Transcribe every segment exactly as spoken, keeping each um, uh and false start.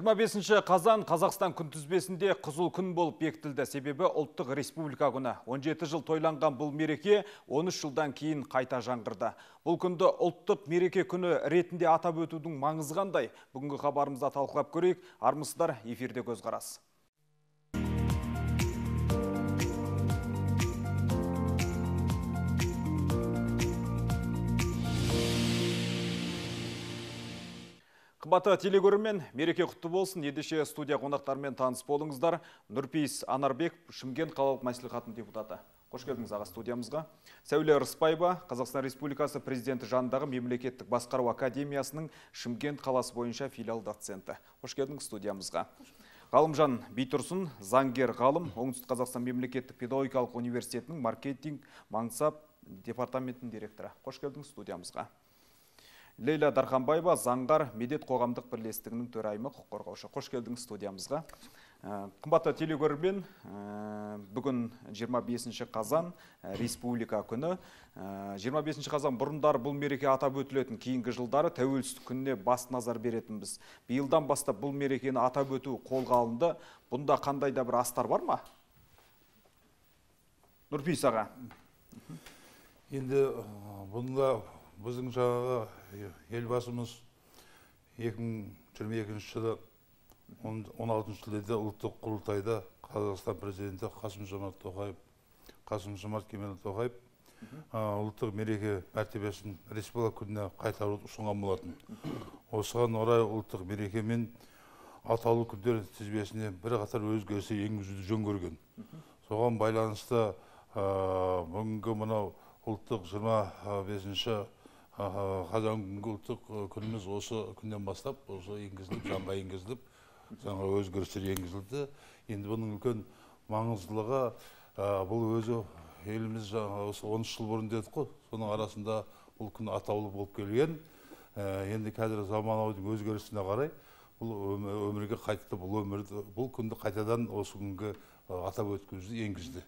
жиырма бесінші қазан Қазақстан күнтізбесінде қызыл күн болып бекітілді. Себебі ұлттық республика күні. он жеті жыл тойланған бұл мереке он үш жылдан кейін қайта жаңғырды. Бұл күнді ұлттық мереке күні ретінде атап өтудің маңызы қандай? Бүгінгі хабарымызда талқылап көрейік. Армысыздар, эфирде көзқарас. Қымбатты телегөрермен, мереке құтты болсын. Ендеше студия қонақтарымен таныс болыңыздар. Нұрпейіс Анарбек, Шымкент қалалық мәслихатының депутаты. Қош келдіңіз аға студиямызға. Сәуле Рысбаева, Қазақстан Республикасы президенті жанындағы мемлекеттік басқару академиясының Шымкент қаласы бойынша филиал доценті. Қош келдіңіз студиямызға. Ғалымжан Бейтұрсын, заңгер ғалым, Оңтүстік Қазақстан мемлекеттік педагогикалық университетінің маркетинг маңсап департаментінің директоры. Қош келдіңіз студиямызға. Лейла Дарханбаева, заңғар медет қоғамдық бірлестігінің төрайымы, құқық қорғаушы. Қош келдіңіз студиямызға. Қымбатты телегөрермен, бүгін жиырма бесінші қазан республика күні. жиырма бесінші қазан бұрындар бұл мереке атап өтілетін, кейінгі жылдары тәуелсіздік күніне бас назар беретінбіз. Биылдан бастап бұл мерекені атап өту қолға алынды. Бұнда қандай да бір астар бар ма? Нұрпейіс аға. Енді бұнда біздің жаңағы елбасымыз екі мың жиырма екінші жылы он алтыншы шілдеде ұлттық құрылтайда Қазақстан президенті Қасым-Жомарт Тоқаев, Қасым-Жомарт Кемелұлы Тоқаев ұлттық мереке мәртебесін республика күніне қайтаруды ұсынған болатын. Осыған орай ұлттық мереке мен атаулы күндер тізбесіне бірқатар өзгерістер енгізуді жөн көрген. Соған байланысты бүгінгі мынау ұлттық жиырма бесінші қазан күнгі ұлттық күніміз осы күннен бастап осы енгізіліп, жанға енгізіліп, жаңа өзгерістер енгізілді. Енді бұның үлкен маңыздылығы бұл өзі еліміз осы он үш жыл бұрын дедік қой, соның арасында бұл күн атаулы болып келген. Енді қазір заманаудің өзгерісіне қарай бұл өмірге қайтты, бұл өмірді, бұл күнді қайтадан осы күнге атап өткізуді енгізді.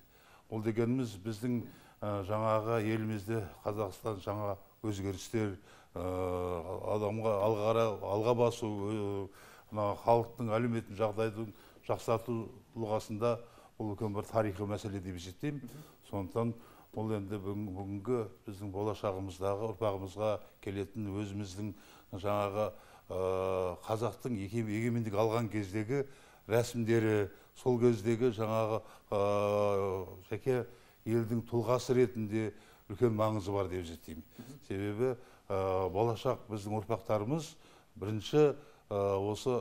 Ол дегеніміз біздің жаңағы елімізде Қазақстан жаңа өзгерістер, адамға алға басу, халықтың әлеуметтік жағдайдың жақсарту тұлғасында бұл үлкен бір тарихи мәселе деп есептеймін. Сондықтан бұл енді бүгінгі біздің болашағымыздағы ұрпағымызға келетін өзіміздің жаңағы қазақтың егемендік алған кездегі рәсімдері, сол кездегі жаңағы жеке елдің тұлғасы ретінде үлкен маңызы бар деп есептеймін. Себебі болашақ біздің ұрпақтарымыз бірінші осы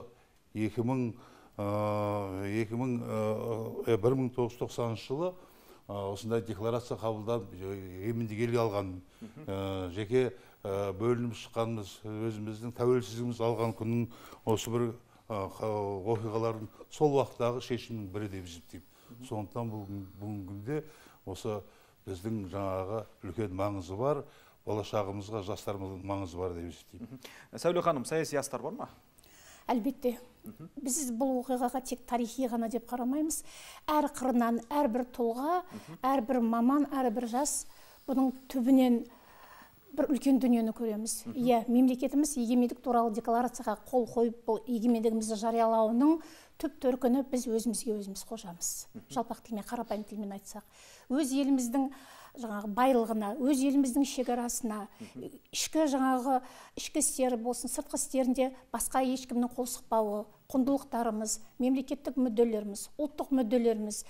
екі мың бір мың тоғыз жүз тоқсаныншы жылы осындай декларация қабылданып егемендік елге алған, жеке бөлініп шыққанымыз, өзіміздің тәуелсіздігіміз алған күннің осы бір оқиғалардың сол уақыттағы шешімнің бірі деп есептеймін. Сондықтан бүгінгі осы біздің жаңағы үлкен маңызы бар, болашағымызға жастарымыздың маңызы бар деп есептеймін. Сәуле ханым, саяси астар бар ма? Әлбетте. Біз бұл оқиғаға тек тарихи ғана деп қарамаймыз. Әр қырынан, әрбір тұлға, әрбір маман, әрбір жас бұның түбінен бір үлкен дүниені көреміз. Иә, мемлекетіміз егемендік туралы декларацияға қол қойып, бұл егемендігімізді жариялауының түп төркіні біз өзімізге өзіміз қожамыз. Жалпақ тілмен, қарапайым тілмен айтсақ. Өз еліміздің жаңағы байлығына, өз еліміздің шекарасына, ішкі жаңағы ішкі істері болсын, сыртқы істерінде басқа ешкімнің қол сұқпауы, құндылықтарымыз, мемлекеттік мүдделеріміз, ұлттық мүдделеріміз,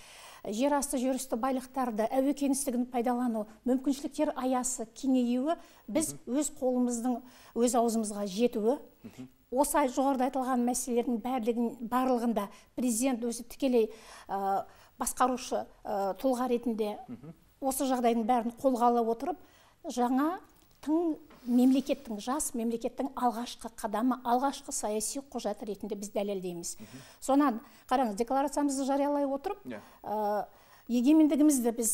жер асты жер үсті байлықтарды, әуе кеңістігін пайдалану, мүмкіншіліктер аясы кеңеюі біз өз қолымыздың өз аузымызға жетуі. Осы жоғарыда айтылған мәселелердің барлығында президент өзі тікелей басқарушы тұлға ретінде осы жағдайдың бәрін қолға ала отырып, жаңа тың мемлекеттің, жас мемлекеттің алғашқы қадамы, алғашқы саяси құжаты ретінде біз дәлелдейміз. Сонан, қараңыз, декларациямызды жариялай отырып, егемендігімізді біз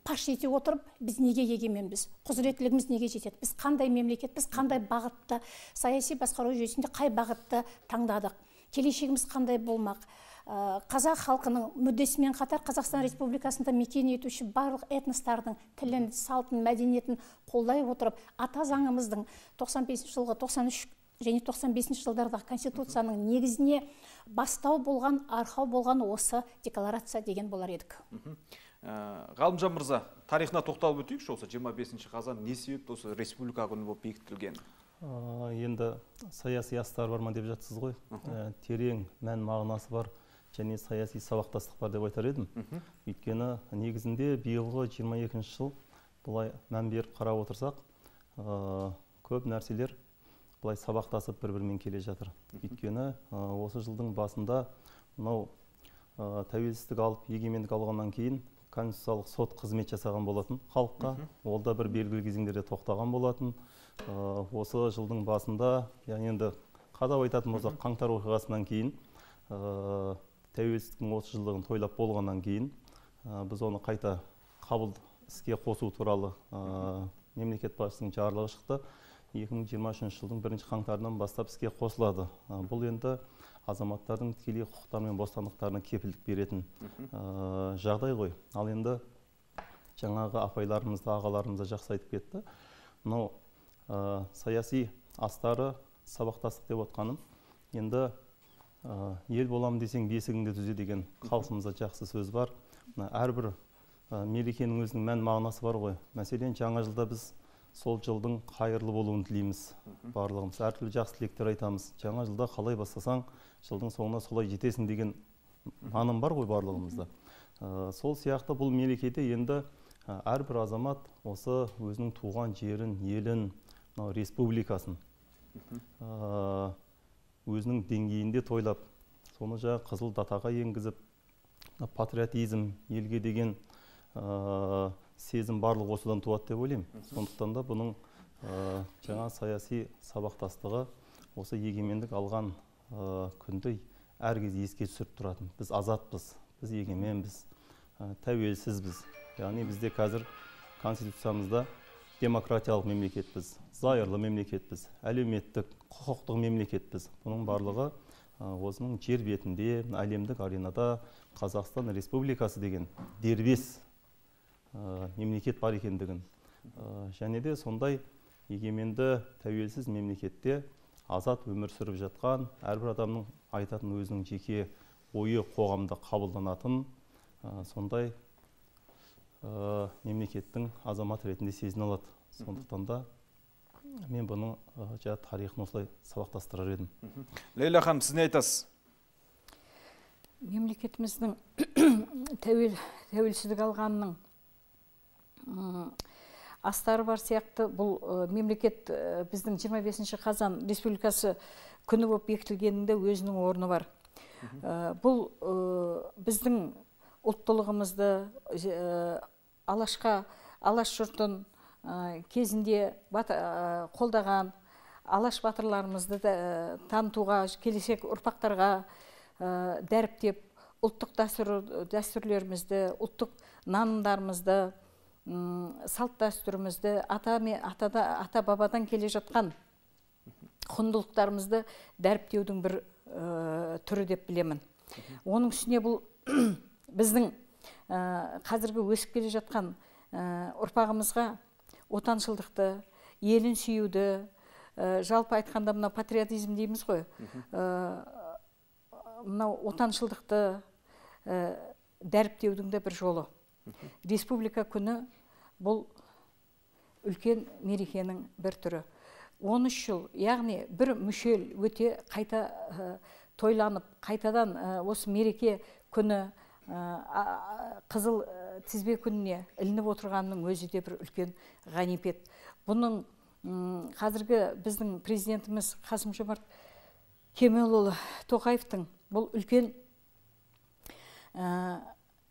паш ете отырып, біз неге егеменбіз, құзыреттілігіміз неге жетеді, біз қандай мемлекет, біз қандай бағытты, саяси басқару жүйесінде қай бағытты таңдадық, келешегіміз қандай болмақ. Қазақ халқының мүддесімен қатар Қазақстан Республикасында мекен етуші барлық этностардың тілін, салтын, мәдениетін қолдай отырып, ата заңымыздың тоқсан бесінші жылғы тоқсан үш және тоқсан бесінші жылдардағы конституцияның негізіне бастау болған, арқау болған осы декларация деген болар едік. Ғалымжан мырза, тарихына тоқталып өтейікші, осы жиырма бесінші қазан не себепті осы республика күні болып бекітілген? Енді саяси астар бар ма деп жатсыз ғой. Терең мән мағынасы бар және саяси сабақтастық бар деп айтар едім. Өйткені негізінде биылғы жиырма екінші жыл бұлай мән беріп қарап отырсақ, көп нәрселер бұлай сабақтасып бір-бірімен келе жатыр. Өйткені осы жылдың басында мынау тәуелсіздік алып, егемендік алғаннан кейін конституциялық сот қызмет жасаған болатын халыққа. Ол да бір белгілі кезеңдерде тоқтаған болатын. Осы жылдың басында, яғни енді қадап айтатын болсақ, қаңтар оқиғасынан кейін, тәуелсіздіктің отыз жылдығын тойлап болғаннан кейін, біз оны қайта қабыл іске қосу туралы мемлекет басшысының жарлығы шықты. екі мың жиырма үшінші жылдың бірінші қаңтарынан бастап іске қосылады. Бұл енді азаматтардың тікелей құқықтары мен бостандықтарына кепілдік беретін жағдай ғой. Ал енді жаңағы апайларымызды, ағаларымызды жақсы айтып кетті. Мынау саяси астары сабақтастық деп отқаным, енді ел боламын десең бесігіңді түзе деген халқымызда жақсы сөз бар. Әрбір мерекенің өзінің мән мағынасы бар ғой. Мәселен, жаңа жылда біз сол жылдың қайырлы болуын тілейміз барлығымыз. Әртүрлі жақсы тілектер айтамыз. Жаңа жылда қалай бастасаң, жылдың соңына солай жетесің деген наным бар ғой барлығымызда. Сол сияқты бұл мерекеде енді әрбір азамат осы өзінің туған жерін, елін, республикасын өзінің деңгейінде тойлап, соны жаңа қызыл датаға енгізіп, патриотизм, елге деген сезім барлық осыдан туады деп ойлаймын. Сондықтан да бұның жаңа саяси сабақтастығы осы егемендік алған күнді әркез еске түсіріп тұратын. Біз азатпыз, біз егеменбіз, тәуелсізбіз. Яғни бізде қазір конституциямызда демократиялық мемлекетпіз, зайырлы мемлекетпіз, әлеуметтік, құқықтық мемлекетпіз. Бұның барлығы осының жер бетінде, әлемдік аренада Қазақстан Республикасы деген дербес мемлекет бар екендігін. Және де сондай егеменді тәуелсіз мемлекетте азат өмір сүріп жатқан, әрбір адамның айтатын өзінің жеке ойы қоғамда қабылданатын сондай мемлекеттің азамат ретінде сезіне алады. Сондықтан да мен бұның жаңа тарихын осылай сабақтастырар едім. Лейла ханым, сіз не айтасыз? Мемлекетіміздің тәуелсіздік алғанының астары бар сияқты, бұл мемлекет біздің жиырма бесінші қазан республикасы күні болып бекітілгенінде өзінің орны бар. Бұл біздің ұлттылығымызды, алашқа, алаш жұртын кезінде қолдаған алаш батырларымызды танытуға, келешек ұрпақтарға дәріптеп, ұлттық дәстүрлерімізді, ұлттық нанымдарымызды, салт дәстүрімізді, ата бабадан келе жатқан құндылықтарымызды дәріптеудің бір түрі деп білемін. Оның үстіне бұл біздің қазіргі өсіп келе жатқан ұрпағымызға отаншылдықты, елін сүюді, жалпы айтқанда мына патриотизм дейміз ғой, мынау отаншылдықты дәріптеудің де бір жолы. Республика күні бұл үлкен мерекенің бір түрі. он үш жыл, яғни бір мүшел өте қайта тойланып, қайтадан осы мереке күні қызыл тізбе күніне ілініп отырғанның өзі де бір үлкен ғанипет. Бұның қазіргі біздің президентіміз Қасым-Жомарт Кемелұлы Тоқаевтың бұл үлкен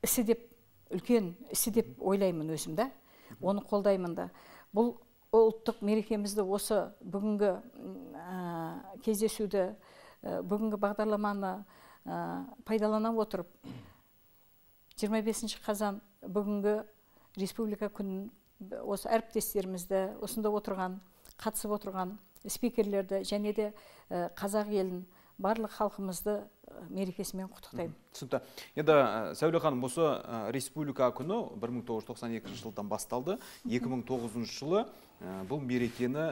ісі деп, үлкен ісі деп ойлаймын өзім да, оны қолдаймын да. Бұл ұлттық мерекемізді осы бүгінгі кездесуді, бүгінгі бағдарламаны пайдалана отырып, жиырма бесінші қазан бүгінгі республика күнін осы әріптестерімізді, осында отырған, қатысып отырған спикерлерді және де қазақ елін, барлық халқымызды мерекесімен құттықтаймын. Түсінікті. Енді Сәуле ханым, осы республика күні бір мың тоғыз жүз тоқсан екінші жылдан басталды. екі мың тоғызыншы жылы бұл мерекені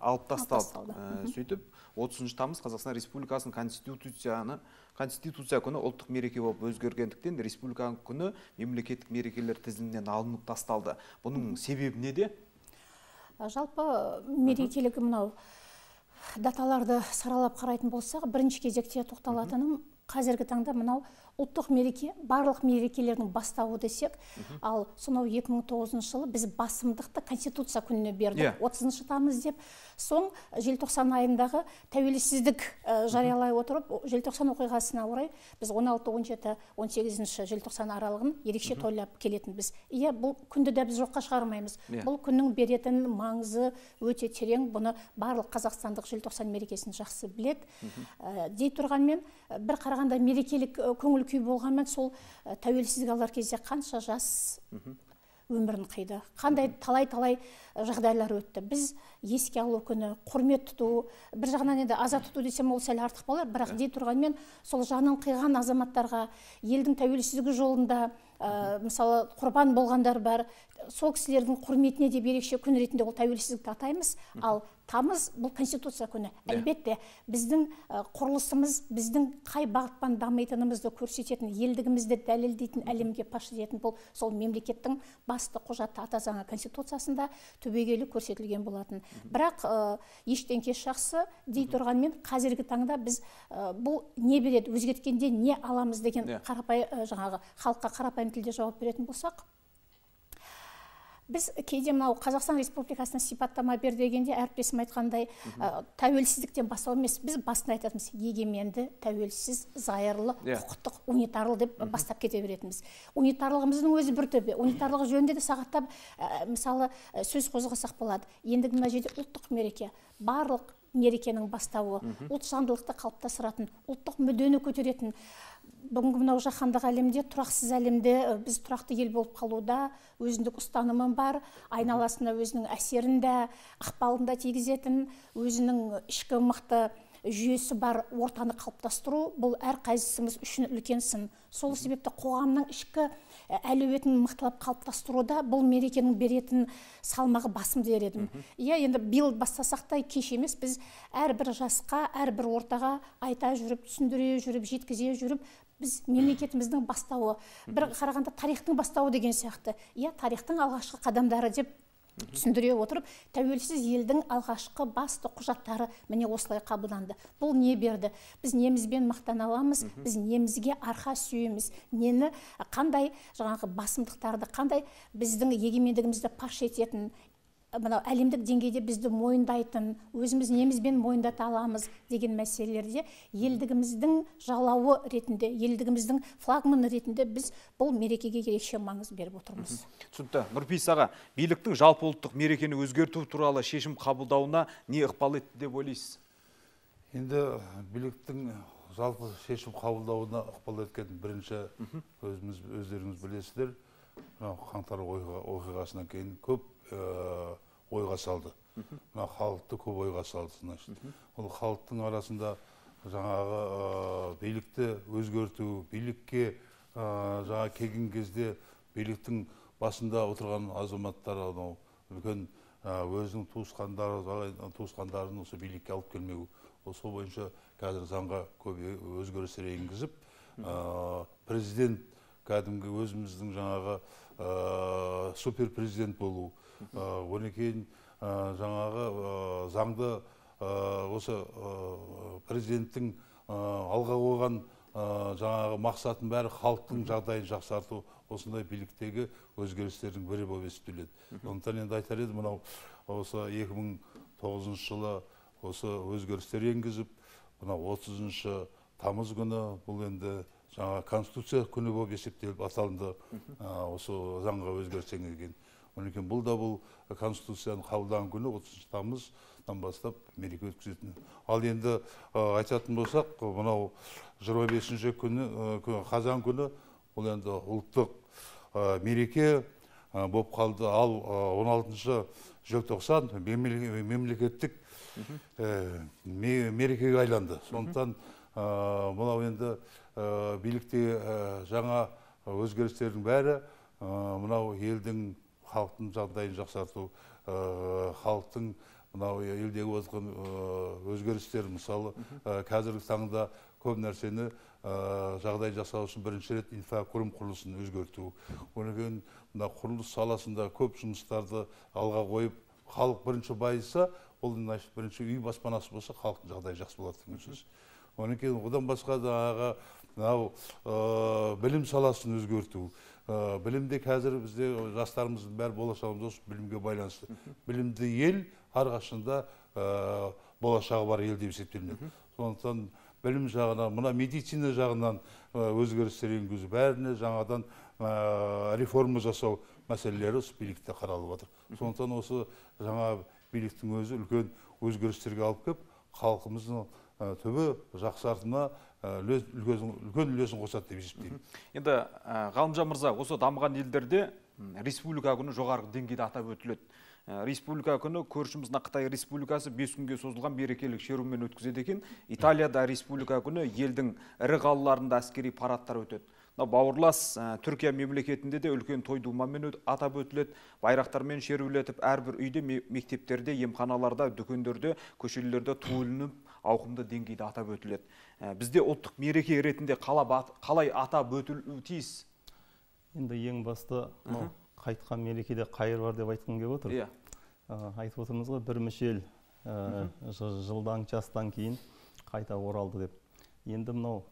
алып тасталды. Сөйтіп, отызыншы тамыз Қазақстан Республикасының конституцияны Конституция күні ұлттық мереке болып өзгергендіктен республиканың күні мемлекеттік мерекелер тізімінен алынып тасталды. Бұның себебі неде? Жалпы мерекелігі мынау даталарды саралап қарайтын болсақ, бірінші кезекте тоқталатыным қазіргі таңда мынау ұлттық мереке, барлық мерекелердің бастауы десек, ал сонау екі мың тоғызыншы жылы біз басымдықты Конституция күніне бердік, отызыншы тамыз деп. Соң желтоқсан айындағы тәуелсіздік жариялай отырып, желтоқсан оқиғасына орай біз он алты, он жеті, он сегізінші желтоқсан аралығын ерекше тойлап келетінбіз. Иә, бұл күнді де біз жоққа шығармаймыз. Бұл күннің беретін маңызы өте терең, бұны барлық қазақстандық желтоқсан мерекесін жақсы білет. Дей тұрғанмен, бір қарағанда мерекелік көңіл күй болғанмен, сол тәуелсіздік алар кезде қанша жас өмірін қиды, қандай талай-талай жағдайлар өтті. Біз еске алу күні, құрмет тұту, бір жағынан енді аза тұту десем ол сәл артық болар, бірақ дей тұрғанмен сол жанын қиған азаматтарға, елдің тәуелсіздігі жолында мысалы құрбан болғандар бар, сол кісілердің құрметіне де ерекше күн ретінде ол тәуелсіздікті атаймыз. Ал тамыз бұл Конституция күні. Әлбетте біздің құрылысымыз, біздің қай бағытпен дамитынымызды көрсететін, елдігімізді дәлелдейтін, әлемге паш ететін бұл сол мемлекеттің басты құжаты ата заңы Конституциясында түбегейлі көрсетілген болатын. Бірақ ештен кеш жақсы дей тұрғанмен, қазіргі таңда біз бұл не береді, өзгерткенде не аламыз деген қарапайым жаңағы халыққа қарапайым тілде жауап беретін болсақ, біз кейде мынау Қазақстан Республикасына сипаттама бер дегенде әріптесім айтқандай тәуелсіздіктен бастау емес, біз басында айтатынбыз егеменді, тәуелсіз, зайырлы, құқықтық, унитарлы деп бастап кете беретінбіз. Унитарлығымыздың өзі бір төбе. Унитарлығы жөнінде де сағаттап мысалы сөз қозғасақ болады. Ендігі мына жерде ұлттық мереке, барлық мерекенің бастауы, ұлтжандылықты қалыптастыратын, ұлттық мүддені көтеретін. Бүгінгі мынау жаһандық әлемде, тұрақсыз әлемде біз тұрақты ел болып қалуда өзіндік ұстанымы бар, айналасына өзінің әсерінде, ықпалында тигізетін, өзінің ішкі мықты жүйесі бар ортаны қалыптастыру, бұл әр қайсымыз үшін үлкен сын. Сол себепті қоғамның ішкі әлеуетін мықтылап қалыптастыруда бұл мерекенің беретін салмағы басым дер едім. Иә, енді биыл бастасақ та кеш емес, біз әрбір жасқа, әрбір ортаға айта жүріп, түсіндіре жүріп, жеткізе жүріп, біз мемлекетіміздің бастауы, бір қарағанда тарихтың бастауы деген сияқты. Иә, тарихтың алғашқы қадамдары деп түсіндіре отырып, тәуелсіз елдің алғашқы басты құжаттары міне осылай қабылданды. Бұл не берді? Біз немізбен мақтан аламыз, біз немізге арқа сүйеміз, нені қандай жаңағы басымдықтарды, қандай біздің егемендігімізді паш ететін, мынау әлемдік деңгейде бізді мойындайтын, өзіміз немізбен мойындата аламыз деген мәселелерде елдігіміздің жалауы ретінде, елдігіміздің флагманы ретінде біз бұл мерекеге ерекше маңыз беріп отырмыз. Түсінікті. Нұрпейіс аға, биліктің жалпы ұлттық мерекені өзгерту туралы шешім қабылдауына не ықпал етті деп ойлайсыз? Енді биліктің жалпы шешім қабылдауына ықпал еткен бірінші өзіміз өздеріңіз білесіздер, қаңтар оқиғасынан кейін көп ойға салды. Халықты көп ойға салды. Ол халықтың арасында жаңағы билікті өзгерту, билікке жаңа келген кезде биліктің басында отырған азаматтар үлкен өзінің туысқандарын осы билікке алып келмеу. Осы бойынша қазір заңға көп өзгерістер енгізіп, президент кәдімгі өзіміздің жаңағы супер президент болу, одан кейін жаңағы заңды осы президенттің алға қойған жаңағы мақсатын бәрі халықтың жағдайын жақсарту, осындай биліктегі өзгерістердің бірі болып есептеледі. Сондықтан енді айтар едім, мынау осы екі мың тоғызыншы жылы осы өзгерістер енгізіп, мынау отызыншы тамыз күні бұл енді жаңа Конституция күні болып есептеліп аталынды, осы заңға өзгеріс енгізген. Оныкен бұл да бұл Конституцияны қабылдаған күні отызыншы тамыздан бастап мереке өткізетін. Ал енді айтатын болсақ, мынау жиырма бесінші күні, қазан күні, бұл енді ұлттық мереке болып қалды. Ал он алтыншы желтоқсан мемлекеттік мерекеге айланды. Сондықтан мынау енді билікте жаңа өзгерістердің бәрі мынау елдің халықтың жағдайын жақсарту, халықтың мынау елдегі отырған өзгерістер, мысалы қазіргі таңда көп нәрсені жағдай жасау үшін бірінші рет инфрақұрылым құрылысын өзгерту. Одан кейін мына құрылыс саласында көп жұмыстарды алға қойып, халық бірінші байыса, ол бірінші үй баспанасы болса, халықтың жағдайы жақсы болады деген сөз. Одан кейін одан басқа жаңағы мынау білім саласын өзгерту. Білімде қазір бізде жастарымыздың бәрі болашағымыз осы білімге байланысты. Білімді ел әрқашанда болашағы бар ел деп есептелінеді. Сондықтан білім жағынан, мына медицина жағынан өзгерістер енгізу, бәріне жаңадан реформа жасау мәселелері осы билікте қаралып жатыр. Сондықтан осы жаңа биліктің өзі үлкен өзгерістерге алып келіп, халқымыздың түбі жақсартуына үлкен үлесін қосады деп есептеймін. Енді Ғалымжан мырза, осы дамыған елдерде республика күні жоғарғы деңгейде атап өтіледі. Республика күні көршіміз Қытай республикасы бес күнге созылған мерекелік шерумен өткізеді екен. Италияда республика күні елдің ірі қалаларында әскери парадтар өтеді. Бауырлас Түркия мемлекетінде де үлкен той думамен атап өтіледі. Байрақтармен шерулетіп, әрбір үйде, мектептерде, емханаларда, дүкендерде, көшелерде туылынып, ауқымды деңгейде атап өтіледі. Бізде ұлттық мереке ретінде қалай атап өтілуі тиіс? Енді ең басты қайтқан мерекеде қайыр бар деп айтқым келіп отыр. Айтып отырмыз ғой, бір мүшел жылдан, жастан кейін қайта оралды деп. Енді мынау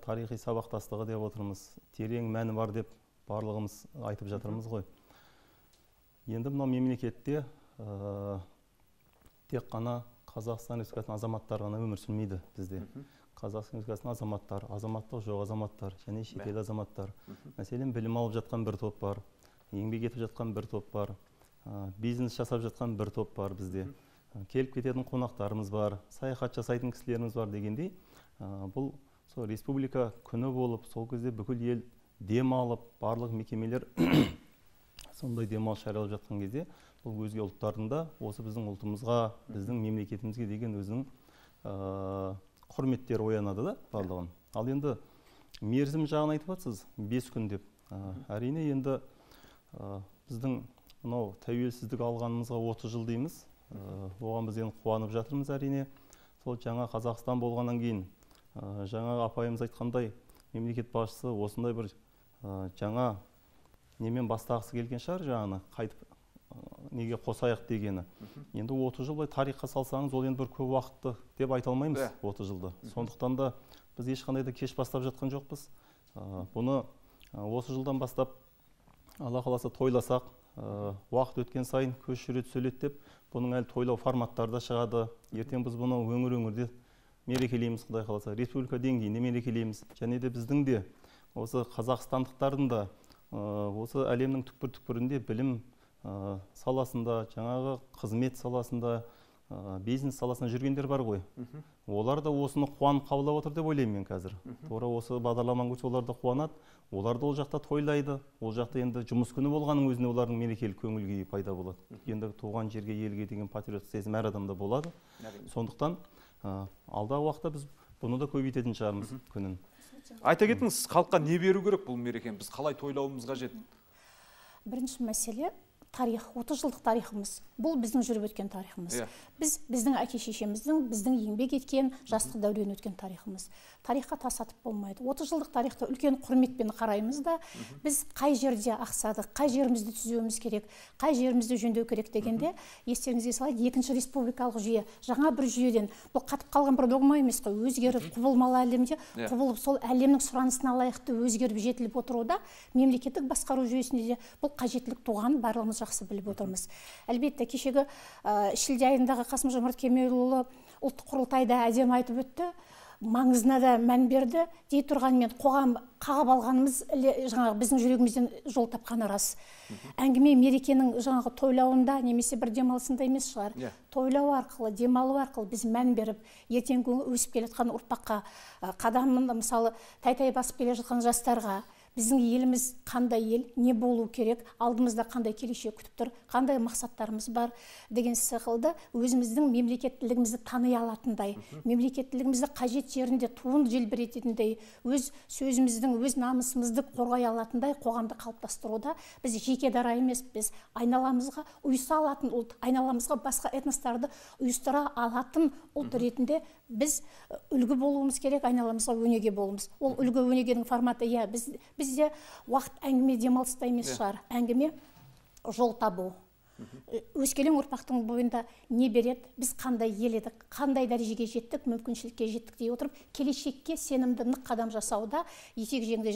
тарихи сабақтастығы деп отырмыз, терең мәні бар деп барлығымыз айтып жатырмыз ғой. Енді мынау мемлекетте тек қана Қазақстан Республикасының азаматтары ғана өмір сүрмейді бізде. Қазақстан Республикасының азаматтар, азаматтық жоқ азаматтар және шетел азаматтар. Мәселен, білім алып жатқан бір топ бар, еңбек етіп жатқан бір топ бар, бизнес жасап жатқан бір топ бар бізде. Келіп кететін қонақтарымыз бар, саяхат жасайтын кісілеріміз бар дегендей, бұл сол республика күні болып, сол кезде бүкіл ел дем алып, барлық мекемелер сондай демалыс жариялап жатқан кезде, бұл өзге ұлттардың да осы біздің ұлтымызға, біздің мемлекетімізге деген өзінің құрметтері оянады да барлығын. Ал енді мерзім жағын айтып жатсыз, бес күн деп. Әрине енді біздің мынау тәуелсіздік алғанымызға отыз жыл дейміз. Оған біз енді қуанып жатырмыз әрине. Сол жаңа Қазақстан болғаннан кейін, жаңа апайымыз айтқандай, мемлекет басшысы осындай бір жаңа немен бастағысы келген шығар, жаңаны қайтып неге қосайық дегені. Енді отыз жыл бай тарихқа салсаңыз, ол енді бір көп уақытты деп айта алмаймыз отыз жылды. Сондықтан да біз ешқандай да кеш бастап жатқан жоқпыз. Бұны осы жылдан бастап Алла қаласа тойласақ, уақыт өткен сайын көш жүре түседі деп, бұның әлі тойлау форматтары да шығады. Ертең біз бұны өңір-өңірде мерекелейміз, Құдай қаласа, республика деңгейінде мерекелейміз. Және де біздің де осы қазақстандықтардың да осы әлемнің түкпір-түкпірінде білім саласында, жаңағы қызмет саласында, бизнес саласында жүргендер бар ғой. Олар да осыны қуанып қабылдап отыр деп ойлаймын мен қазір. Тура осы бағдарламаны көрсе, олар да қуанады. Олар да ол жақта тойлайды. Ол жақта енді жұмыс күні болғанның өзіне олардың мерекелік көңіл күйі пайда болады. Енді туған жерге, елге деген патриоттық сезім әр адамда болады. Сондықтан алдағы уақытта біз бұны да көбейтетін шығармыз күнін. Айта кетіңіз, халыққа не беру керек бұл мерекені? Біз қалай тойлауымыз қажет? Бірінші мәселе тарих, отыз жылдық тарихымыз. Бұл біздің жүріп өткен тарихымыз. Біз біздің әке-шешеміздің, біздің еңбек еткен, жастық дәурен өткен тарихымыз. Тарихқа тас атып болмайды. отыз жылдық тарихты үлкен құрметпен қараймыз да, біз қай жерде ақсадық, қай жерімізді түзеуіміз керек, қай жерімізді жөндеу керек дегенде, естеріңізге салайық, екінші республикалық жүйе, жаңа бір жүйеден, бұл қатып қалған бір догма емес қой, өзгеріп, құбылмалы әлемде, құбылып, сол әлемнің сұранысына лайықты өзгеріп жетіліп отыруда, мемлекеттік басқару жүйесінде де бұл қажеттілік туғанын барлығымыз жақсы біліп отырмыз. Әлбетте, кешегі шілде айындағы Қасым-Жомарт Кемелұлы ұлттық құрылтайда әдемі айтып өтті, маңызына да мән берді, дей тұрғанмен қоғам қағып алғанымыз жаңағы біздің жүрегімізден жол тапқаны рас. Әңгіме мерекенің жаңағы тойлауында немесе бір демалысында емес шығар. Тойлау арқылы, демалу арқылы біз мән беріп, ертеңгі өсіп келе жатқан ұрпаққа, қадамын мысалы тай-тай басып келе жатқан жастарға, біздің еліміз қандай ел, не болу керек, алдымызда қандай келешек күтіп тұр, қандай мақсаттарымыз бар деген сықылды өзіміздің мемлекеттілігімізді тани алатындай, мемлекеттілігімізді қажет жерінде туын желбірететіндей, өз сөзіміздің, өз намысымызды қорғай алатындай қоғамды қалыптастыруда біз жеке дара емес, біз айналамызға ұйыса алатын ұлт, айналамызға басқа этностарды ұйыстыра алатын ұлт ретінде біз үлгі болуымыз керек, айналамызға өнеге болуымыз. Ол үлгі өнегенің форматы, иә, біз, бізде уақыт әңгіме демалыста емес шығар, әңгіме жол табу. Өскелең ұрпақтың бойында не береді, біз қандай ел едік, қандай дәрежеге жеттік, мүмкіншілікке жеттік дей отырып, келешекке сенімді нық қадам жасауда етек жеңді,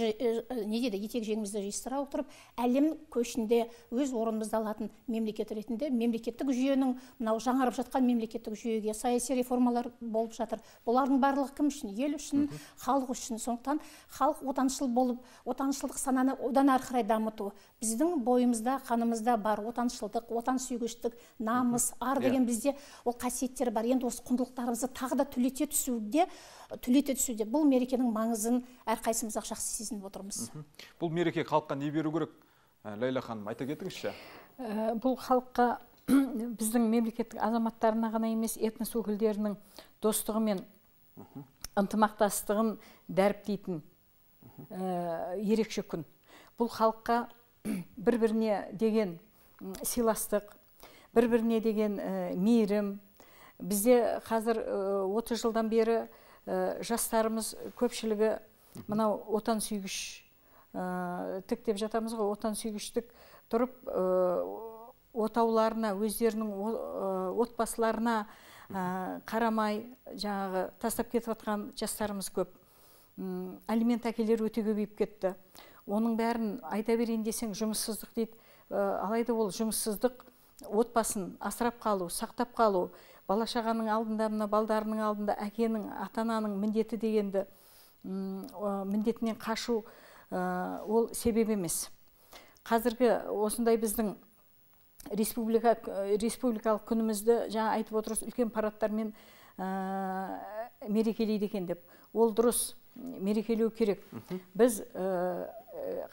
не дейді, етек жеңімізді жиыстыра отырып, әлем көшінде өз орнымызды алатын мемлекет ретінде, мемлекеттік жүйенің, мынау жаңарып жатқан мемлекеттік жүйеге саяси реформалар болып жатыр. Бұлардың барлығы кім үшін? Ел үшін, халық үшін. Сондықтан халық отаншыл болып, отаншылдық сананы одан ары қарай дамыту. Біздің бойымызда, қанымызда бар отаншылдық, отан сүйгіштік, намыс, ар деген бізде ол қасиеттер бар. Енді осы құндылықтарымызды тағы да түлете түсуде, түлете түсуде бұл мерекенің маңызын әрқайсымыз ақ жақсы сезініп отырмыз. Бұл мереке халыққа не беру керек? Лейла ханым, айта кетіңізші. Бұл халыққа біздің мемлекеттік азаматтарына ғана емес, этнос өкілдерінің достығы мен ынтымақтастығын дәріптейтін ерекше күн. Бұл халыққа бір-біріне деген сыйластық, бір-біріне деген мейірім. Бізде қазір отыз жылдан бері жастарымыз көпшілігі мынау отан сүйгіш тік деп жатамыз ғой, отан сүйгіштік тұрып отауларына, өздерінің отбасыларына қарамай жаңағы тастап кетіп жатқан жастарымыз көп. Алимент әкелер өте көбейіп кетті. Оның бәрін айта берейін десең жұмыссыздық дейді. Алайда ол жұмыссыздық отбасын асырап қалу, сақтап қалу, бала-шағаның алдында, мына балдарының алдында әкенің, ата-ананың міндеті дегенді міндетінен қашу ол себеп емес. Қазіргі осындай біздің республика, республикалық күнімізді жаңа айтып отырыз, үлкен парадтармен мерекелейді екен деп. Ол дұрыс, мерекелеу керек. Біз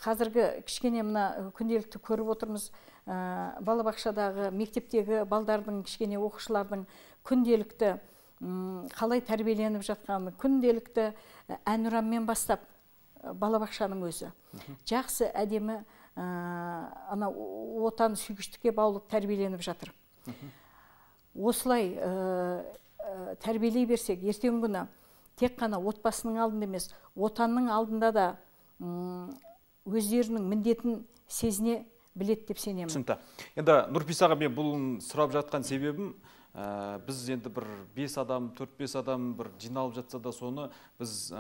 қазіргі кішкене мына күнделікті көріп отырмыз, балабақшадағы, мектептегі балдардың, кішкене оқушылардың күнделікті қалай тәрбиеленіп жатқаны, күнделікті әнұранмен бастап балабақшаның өзі. Жақсы, әдемі ана отан сүйгіштікке баулып тәрбиеленіп жатыр. Осылай тәрбиелей берсек, ертеңгі күні тек қана отбасының алдында емес, отанның алдында да өздерінің міндетін сезіне білет деп сенемін. Түсінікті. Енді Нұрписаға мен бұл сұрап жатқан себебім, біз енді бір бес адам, төрт бес адам бір жиналып жатса да соны біз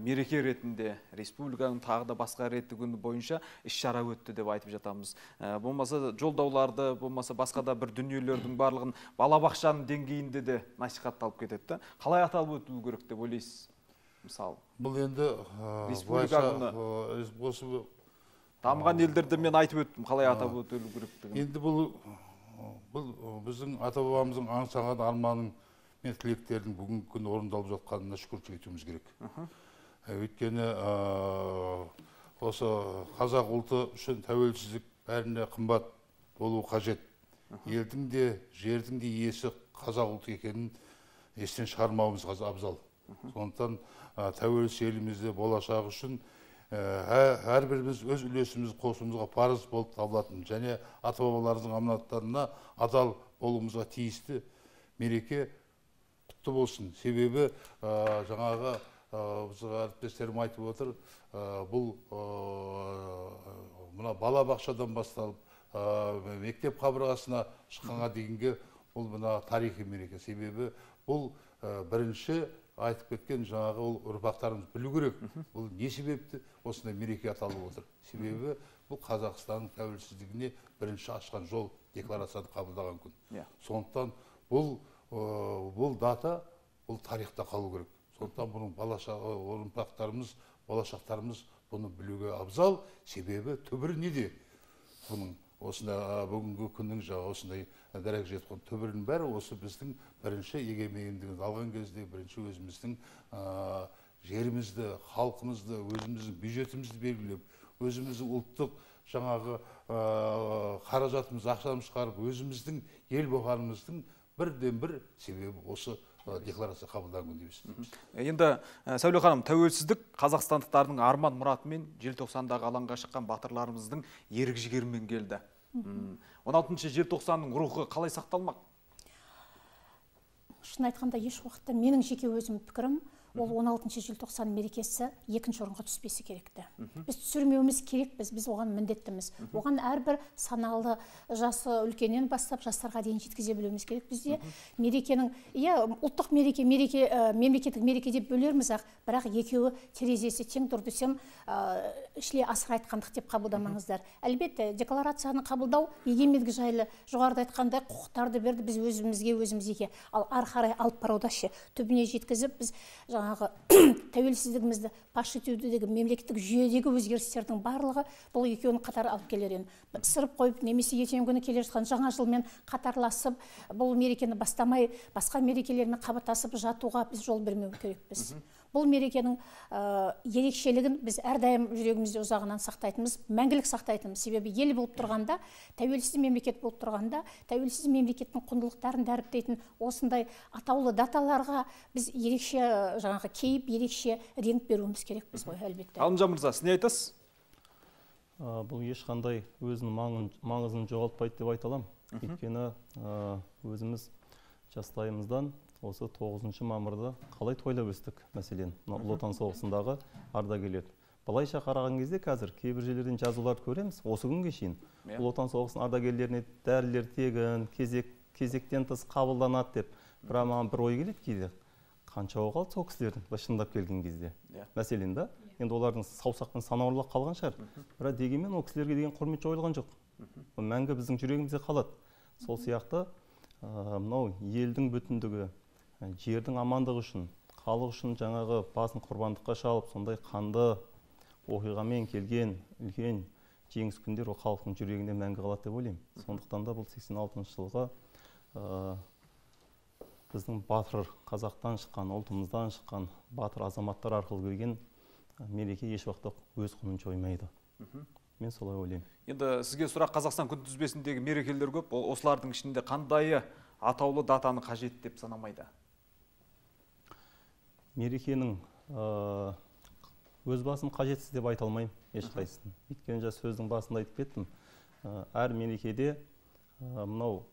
мереке ретінде, республиканың тағы да басқа ретті күні бойынша іс-шара өтті деп айтып жатамыз. Болмаса жолдауларды, болмаса басқа да бір дүниелердің барлығын балабақшаның деңгейінде де насихатталып кетеді. Қалай аталып өту керек деп ойлайсыз? Мысалы, бұл енді осы дамыған елдерді мен айтып өттім, қалай атап өтілу керектігін. Енді бұл бұл біздің ата-бабамыздың аңсаған арманың мен тілектердің бүгінгі күні орындалып жатқанына шүкіршілік етуіміз керек. Өйткені осы қазақ ұлты үшін тәуелсіздік бәріне қымбат болу қажет. Елдің де, жердің де иесі қазақ ұлты екенін естен шығармауымыз абзал. Сондықтан тәуелсіз елімізде болашағы үшін әрбіріміз өз үлесіміз қосуымызға парыз болып табылатын және ата-бабаларымыздың аманаттарына адал болуымызға тиісті мереке құтты болсын. Себебі жаңағы біздің әріптестерім айтып отыр, бұл мына балабақшадан басталып мектеп қабырғасына шыққанға дейінгі бұл мына тарихи мереке. Себебі бұл бірінші айтып кеткен жаңағы ол ұрпақтарымыз білу керек. Бұл не себепті осындай мереке аталып отыр? Себебі бұл Қазақстанның тәуелсіздігіне бірінші ашқан жол декларацияны қабылдаған күн. Сондықтан бұл бұл дата бұл тарихта қалу керек. Сондықтан бұның ұрпақтарымыз, болашақтарымыз бұны білуге абзал. Себебі түбірі неде? Бұның осындай бүгінгі күннің жаңа осындай дәрежеге жеткен түбірінің бәрі осы біздің бірінші егемендігімізді алған кезде бірінші өзіміздің жерімізді, халқымызды, өзіміздің бюджетімізді белгілеп, өзіміздің ұлттық жаңағы қаражатымыз, ақшамыз шығарып, өзіміздің ел болғанымыздың бірден бір себебі осы декларация қабылданған дейміз. Енді Сәуле ханым, тәуелсіздік қазақстандықтардың арман мұратымен желтоқсандағы алаңға шыққан батырларымыздың ерік жігерімен келді. он алтыншы желтоқсанның рухы қалай сақталмақ? Шын айтқанда еш уақытта менің жеке өзім пікірім, ол он алтыншы желтоқсан мерекесі екінші орынға түспесі керекті. Біз түсірмеуіміз керекпіз, біз оған міндеттіміз. Оған әрбір саналы жасы үлкеннен бастап жастарға дейін жеткізе білуіміз керек. Бізде мерекенің, иә, ұлттық мереке, мереке, мемлекеттік мереке деп бөлерміз ақ, бірақ екеуі терезесі тең тұр десем, ішіле асыр айтқандық деп қабылдамаңыздар. Әлбетте, декларацияны қабылдау егемендік жайлы жоғарыда айтқандай құқықтарды берді, біз өзімізге өзімізге, ал ары қарай алып баруда ше түбіне жеткізіп, біз жаңағы тәуелсіздігімізді паш етудегі мемлекеттік жүйедегі өзгерістердің барлығы бұл екеуінің қатар алып келер еді. Сырып қойып, немесе ертеңгі күні келе жатқан жаңа жылмен қатарласып, бұл мерекені бастамай, басқа мерекелермен қабаттасып жатуға біз жол бермеу керекпіз. Бұл мерекенің ерекшелігін біз әрдайым жүрегімізде ұзағынан сақтайтынымыз, мәңгілік сақтайтынымыз. Себебі ел болып тұрғанда, тәуелсіз мемлекет болып тұрғанда, тәуелсіз мемлекеттің құндылықтарын дәріптейтін осындай атаулы даталарға біз ерекше жаңағы кейіп, ерекше реңк беруіміз керекпіз ғой, әлбетте. Ғалымжан мырза, сіз не айтасыз? Бұл ешқандай өзінің маңызын жоғалтпайды деп айта аламын. Өйткені өзіміз жастайымыздан осы тоғызыншы мамырда қалай тойлап өстік мәселен, Ұлы Отан соғысындағы ардагерлер. Былайша қараған кезде қазір кейбір жерлерден жазуларды көреміз, осы күнге шейін Ұлы Отан соғысының ардагерлеріне дәрілер тегін, кезек, кезектен тыс қабылданады деп. Бірақ маған бір ой келеді кейде. Қанша қалды сол кісілердің шындап келген кезде. Мәселен да, енді олардың саусақпен санаулы қалған шығар. Бірақ дегенмен ол кісілерге деген құрмет жойылған жоқ. Мәңгі біздің жүрегімізде қалады. Сол сияқты мынау елдің бүтіндігі, жердің амандығы үшін, халық үшін жаңағы басын құрбандыққа шалып, сондай қанды оқиғамен келген үлкен жеңіс күндер ол халықтың жүрегінде мәңгі қалады деп ойлаймын. Сондықтан да бұл сексен алтыншы жылғы біздің батыр қазақтан шыққан, ұлтымыздан шыққан батыр азаматтар арқылы келген мереке еш уақытта өз құнын жоймайды. Мен солай ойлаймын. Енді сізге сұрақ, Қазақстан күнтізбесіндегі мерекелер көп, осылардың ішінде қандайы атаулы датаны қажет деп санамайды? Мерекенің өз басым қажетсіз деп айта алмаймын ешқайсысын. Өйткені жа сөздің басында айтып кеттім. Әр мерекеде мынау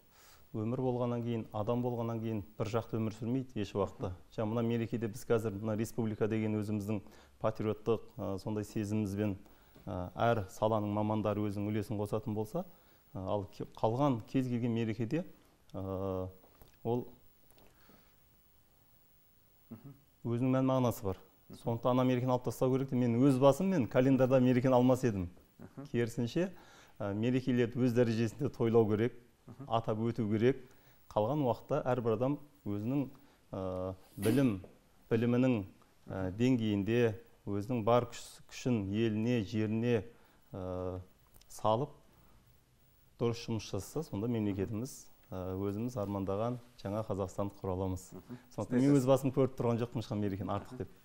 өмір болғаннан кейін, адам болғаннан кейін бір жақты өмір сүрмейді еш уақытта. Жаңа мына мерекеде біз қазір мына республика деген өзіміздің патриоттық сондай сезімімізбен әр саланың мамандары өзінің үлесін қосатын болса, ал қалған кез келген мерекеде ол өзінің мән мағынасы бар. Сондықтан ана мерекені алып тастау керек те, мен өз басым мен календарда мерекені алмас едім. Керісінше мерекелерді өз дәрежесінде тойлау керек, атап өту керек. Қалған уақытта әрбір адам өзінің білім, білімінің деңгейінде өзінің бар күшін еліне, жеріне салып дұрыс жұмыс жасаса, сонда мемлекетіміз өзіміз армандаған жаңа Қазақстанды құра аламыз. Сондықтан мен өз басым көріп тұрған жоқпын ешқандай мерекені артық деп.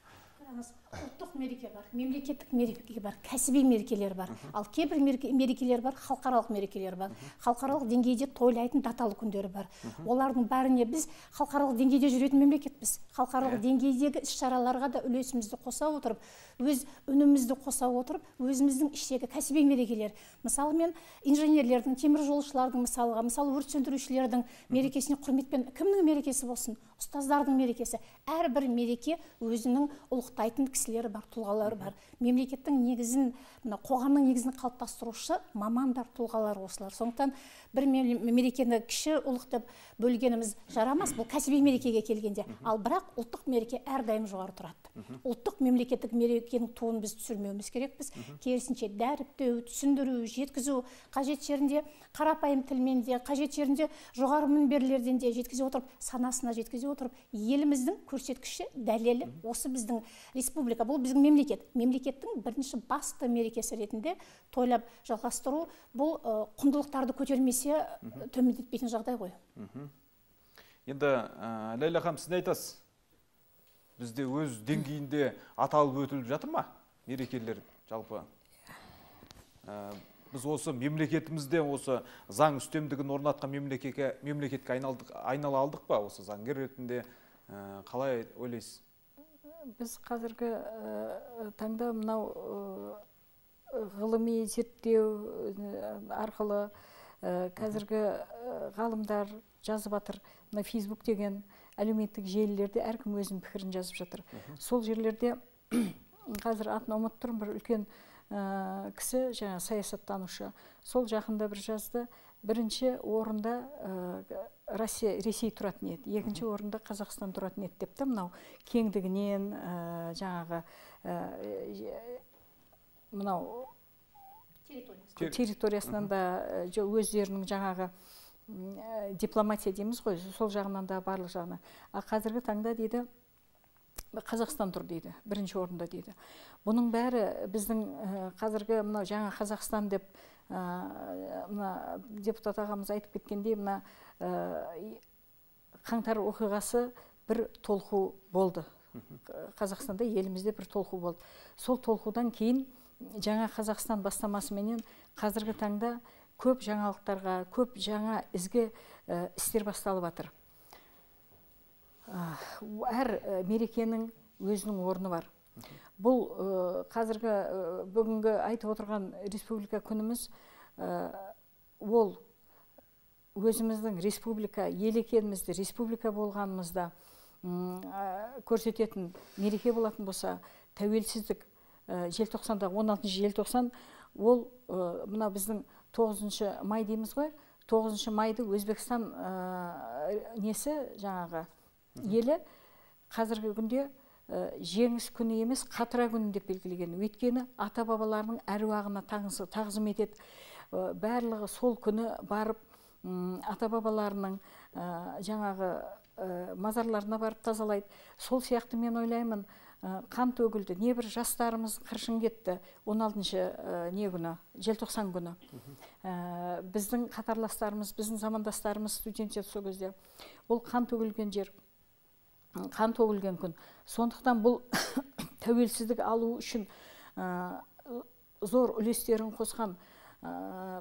Ұлттық мереке бар, мемлекеттік мереке бар, кәсіби мерекелер бар. Ал кейбір мерекелер бар, халықаралық мерекелер бар. Халықаралық деңгейде тойлайтын даталы күндері бар. Олардың бәріне біз халықаралық деңгейде жүретін мемлекетпіз. Халықаралық деңгейдегі іс-шараларға да үлесімізді қоса отырып, өз үнімізді қоса отырып, өзіміздің іштегі кәсіби мерекелер. Мысалы, мен инженерлердің, темір жолшылардың мысалға, мысалы өрт сөндірушілердің мерекесіне құрметпен, кімнің мерекесі болсын, ұстаздардың мерекесі, әрбір мереке өзінің ұлықтайтын кісілері бар, тұлғалары бар. Мемлекеттің негізін, қоғамның негізін қалыптастырушы мамандар, тұлғалар осылар. Сондықтан бір мерекені кіші ұлық деп бөлгеніміз жарамас, бұл кәсіби мерекеге келгенде. Ал бірақ ұлттық мереке әрдайым жоғары тұрады. Ұлттық мемлекеттік мерекенің туын біз түсірмеуіміз керекпіз. Керісінше дәріптеу, түсіндіру, жеткізу, қажет жерінде қарапайым тілмен де, қажет жерінде жоғары мінберлерден де жеткізе отырып, санасына жеткізе отырып, еліміздің көрсеткіші, дәлелі осы біздің республика, бұл біздің мемлекет. Мемлекеттің бірінші басты мерекесі ретінде тойлап жалғастыру, бұл құндылықтарды көтермесе төмендетпейтін жағдай ғой. Енді Ләйлә ханым, сіз не айтасыз? Бізде өз деңгейінде аталып өтіліп жатыр ма мерекелер жалпы? Біз осы мемлекетімізде осы заң үстемдігін орнатқан мемлекетке мемлекетке айналдық айнала алдық па осы заңгер ретінде, қалай ойлайсыз? Біз қазіргі таңда мынау ғылыми зерттеу арқылы қазіргі ғалымдар жазып жатыр. Мына Facebook деген әлеуметтік желілерде әркім өзінің пікірін жазып жатыр. Сол жерлерде қазір атын ұмытып тұрмын, бір үлкен кісі, жаңа саясаттанушы, сол жақында бір жазды. Бірінші орында Ресей тұратын еді, екінші орында Қазақстан тұратын еді депті. Мынау кеңдігінен, жаңағы мынау территориясынан да өздерінің жаңағы дипломатия дейміз ғой, сол жағынан да барлық жағынан. А қазіргі таңда дейді Қазақстан тұр дейді, бірінші орында дейді. Бұның бәрі біздің қазіргі мынау жаңа Қазақстан деп мына депутат ағамыз айтып кеткендей, мына қаңтар оқиғасы бір толқу болды. Қазақстанда, елімізде бір толқу болды. Сол толқудан кейін жаңа Қазақстан бастамасыменен қазіргі таңда көп жаңалықтарға, көп жаңа ізгі істер басталып жатыр. Әр мерекенің өзінің орны бар. Бұл қазіргі бүгінгі айтып отырған республика күніміз, ол өзіміздің республика, ел екенімізді, республика болғанымызда көрсететін мереке болатын болса, тәуелсіздік желтоқсанда, он алтыншы желтоқсан, ол мына біздің тоғызыншы май дейміз ғой, тоғызыншы майды Өзбекстан несі жаңағы елі қазіргі күнде жеңіс күні емес, қатыра күні деп белгілеген. Өйткені ата бабаларының әруағына тағзым етеді. Барлығы сол күні барып ата бабаларының жаңағы мазарларына барып тазалайды. Сол сияқты мен ойлаймын, қан төгілді, небір жастарымыз қыршын кетті он алтыншы не күні, желтоқсан күні. Біздің қатарластарымыз, біздің замандастарымыз студенттер сол кезде. Ол қан төгілген жер, қан төгілген күн. Сондықтан бұл тәуелсіздік алу үшін зор үлестерін қосқан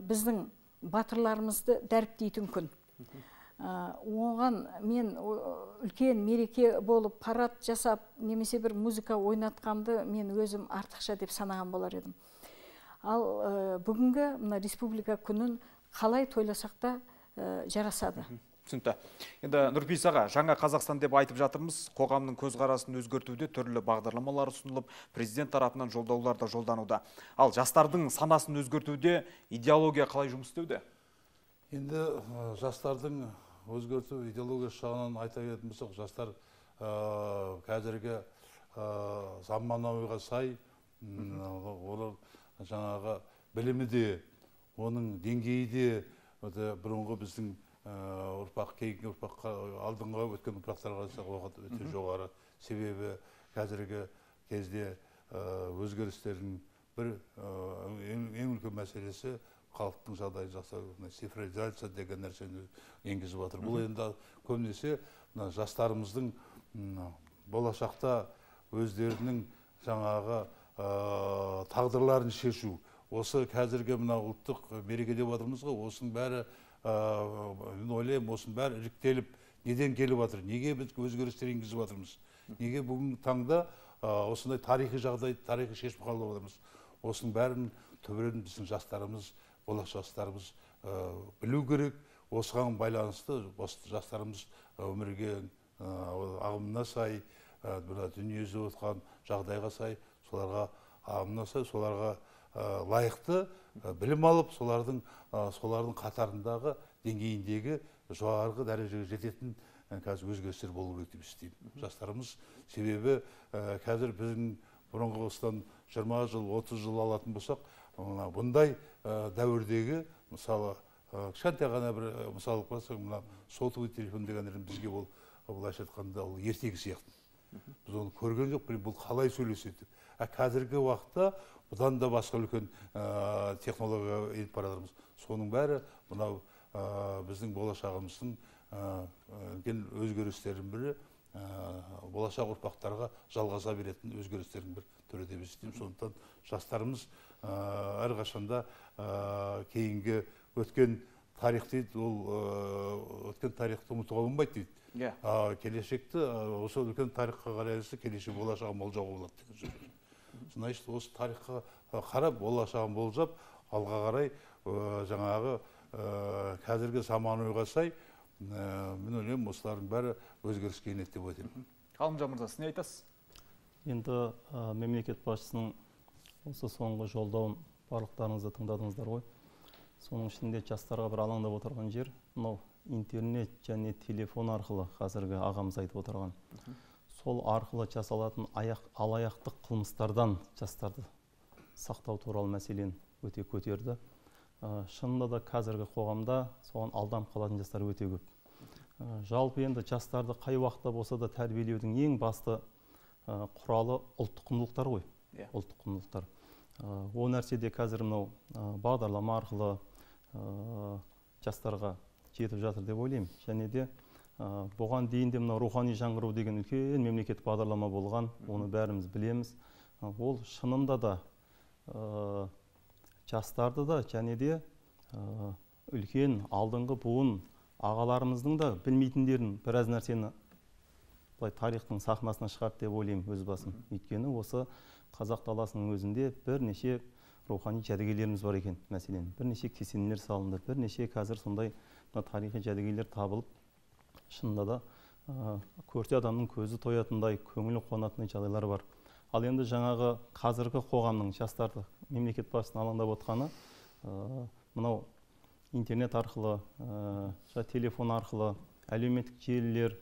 біздің батырларымызды дәріптейтін күн. Оған мен үлкен мереке болып парад жасап, немесе бір музыка ойнатқанды мен өзім артықша деп санаған болар едім. Ал бүгінгі мына республика күнін қалай тойласақ та жарасады. Түсінікті. Енді Нұрпейіс аға, жаңа Қазақстан деп айтып жатырмыз, қоғамның көзқарасын өзгертуде түрлі бағдарламалар ұсынылып, президент тарапынан жолдаулар да жолдануда. Ал жастардың санасын өзгертуде идеология қалай жұмыс істеуде? Енді жастардың өзгерту идеологиясы жағынан айта кететін болсақ, жастар қазіргі заманауиға сай, олар жаңағы білімі де, оның деңгейі де бұрынғы біздің ұрпақ, кейінгі ұрпаққа, алдыңғы өткен ұрпақтарға қарағанда өте жоғары. Себебі қазіргі кезде өзгерістердің бір ең үлкен мәселесі халықтың жағдайын жақсарту, цифровизация деген нәрсені енгізіп жатыр. Бұл енді көбінесе жастарымыздың болашақта өздерінің жаңағы тағдырларын шешу. Осы қазіргі мына ұлттық мереке деп жатырмыз ғой, осының бәрі ойлаймын, осының бәрі іріктеліп, неден келіп жатыр, неге біз өзгерістер енгізіп жатырмыз, неге бүгінгі таңда осындай тарихи жағдай, тарихи шешіп қалып жатырмыз. Осының бәрін түбірін біздің жастарымыз, болашақ жастарымыз білу керек. Осыған байланысты жастарымыз өмірге ағымына сай, дүниежүзі отқан жағдайға сай, соларға ағымына сай, соларға лайықты білім алып, солардың солардың қатарындағы деңгейіндегі жоғарғы дәрежеге жететін қазір өзгерістер болу керек деп істеймін. Жастарымыз себебі қазір біздің бұрынғы осыдан жиырма жыл, отыз жыл алатын болсақ, бұндай дәуірдегі мысалы кішкентай ғана бір мысалы қарасаң, мына сотовый телефон деген бізге ол былайша айтқанда ол ертегі сияқты. Біз оны көрген жоқ, бұл қалай сөйлеседі. Қазіргі уақытта бұдан да басқа үлкен технология еніп бара жатырмыз. Соның бәрі мынау біздің болашағымыздың өзгерістерінің бірі болашақ ұрпақтарға жалғаса беретін өзгерістердің бір түрі деп есептеймін. Сондықтан жастарымыз әрқашанда кейінгі өткен тарих дейді, ол өткен тарихты ұмытуға болмайды дейді. Келешекті осы үлкен тарихқа қарайлысы келешек болашағын болжауға болады деген сөз. Значит, осы тарихқа қарап, болашағын болжап, алға қарай жаңағы қазіргі заманауиға сай, мен ойлаймын, осылардың бәрі өзгеріске енеді деп ойлаймын. Ғалымжан мырза, сіз не айтасыз? Енді мемлекет басшысының осы соңғы жолдауын барлықтарыңызды тыңдадыңыздар ғой. Соның ішінде жастарға бір алаңдап отырған жер, мынау интернет және телефон арқылы қазіргі ағамыз айтып отырған. Сол арқылы жасалатын алаяқтық қылмыстардан жастарды сақтау туралы мәселені өте көтерді. Шынында да қазіргі қоғамда соған алданып қалатын жастар өте көп. Жалпы енді жастарды қай уақытта болса да тәрбиелеудің ең басты құралы ұлттық құндылықтар ғой. Ұлттық құндылықтар. О нәрседе қазір мынау бағдарлама арқылы жастарға жетіп жатыр деп ойлаймын. Және де бұған дейін де мынау рухани жаңғыру деген үлкен мемлекеттік бағдарлама болған, оны бәріміз білеміз. Ол шынында да жастарды да және де үлкен алдыңғы буын ағаларымыздың да білмейтіндерін біраз нәрсені тарихтың сахнасына шығарды деп ойлаймын өз басым. Өйткені осы қазақ даласының өзінде бірнеше рухани жәдігерлеріміз бар екен. Мәселен, бірнеше кесенелер салынды, бірнеше қазір сондай тарихи жәдігерлер табылып, шынында да көрсе адамның көзі тоятындай, көңілі қуанатындай жағдайлар бар. Ал енді жаңағы қазіргі қоғамның жастарды мемлекет басшысының алаңдап отқаны, мынау интернет арқылы, телефон арқылы, әлеуметтік желілер,